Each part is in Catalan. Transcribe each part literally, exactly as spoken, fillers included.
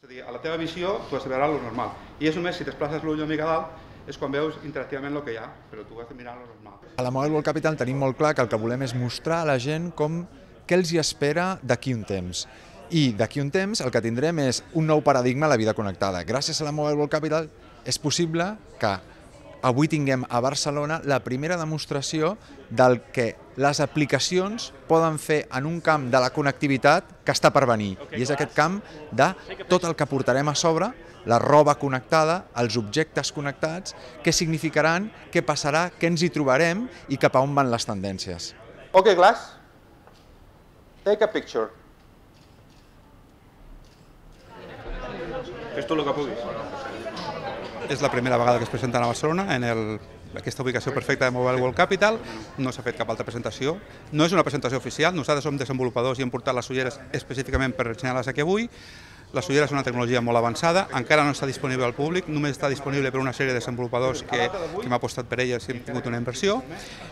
És a dir, a la teva visió tu has de veure lo normal. I és només si desplaces l'ull una mica a dalt és quan veus interactivament el que hi ha, però tu has de mirar lo normal. A la Mobile World Capital tenim molt clar que el que volem és mostrar a la gent com què els hi espera d'aquí un temps. I d'aquí un temps el que tindrem és un nou paradigma a la vida connectada. Gràcies a la Mobile World Capital és possible que avui tinguem a Barcelona la primera demostració del que les aplicacions poden fer en un camp de la connectivitat que està per venir. I és aquest camp de tot el que portarem a sobre, la roba connectada, els objectes connectats, què significaran, què passarà, què ens hi trobarem i cap a on van les tendències. Ok, Glass, take a picture. Fes tot el que puguis. És la primera vegada que es presenten a Barcelona en el, aquesta ubicació perfecta de Mobile World Capital. No s'ha fet cap altra presentació. No és una presentació oficial, nosaltres som desenvolupadors i hem portat les ulleres específicament per ensenyar-les aquí avui. Les ulleres són una tecnologia molt avançada, encara no està disponible al públic, només està disponible per una sèrie de desenvolupadors que, que hem apostat per elles i hem tingut una inversió.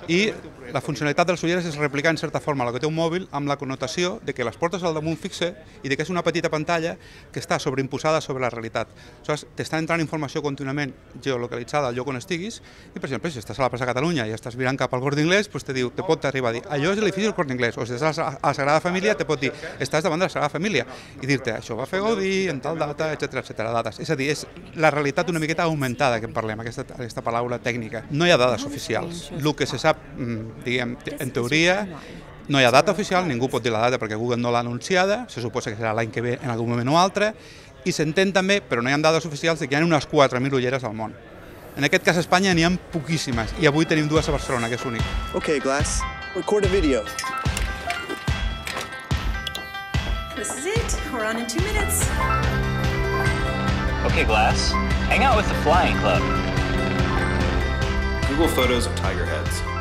I la funcionalitat de les ulleres és replicar en certa forma el que té un mòbil amb la connotació de que les portes al damunt fixe i de que és una petita pantalla que està sobreimposada sobre la realitat. Aleshores, t'està entrant informació contínuament geolocalitzada al lloc on estiguis i, per exemple, si estàs a la plaça Catalunya i estàs mirant cap al Corte Inglés, doncs te diu, te pot arribar a dir, allò és l'edifici del Corte Inglés, o si estàs a la Sagrada Família, te pot dir, estàs davant de la Sagrada Família i dir-te, això va fer Gaudí, en tal data, etcètera, etcètera, dates. És a dir, és la realitat una miqueta augmentada que en parlem, aquesta, aquesta paraula tècnica. No hi ha dades oficials. El que se sap, diguem, en teoria, no hi ha data oficial, ningú pot dir la data perquè Google no l'ha anunciada, se suposa que serà l'any que ve en algun moment o altre, i s'entén també, però no hi ha dades oficials, que hi ha unes quatre mil ulleres al món. En aquest cas a Espanya n'hi ha poquíssimes, i avui tenim dues a Barcelona, que és únic. Okay, Glass, record a video. This is it. We're on in two minutes. Okay, Glass. Hang out with the Flying Club. Google Photos of tiger heads.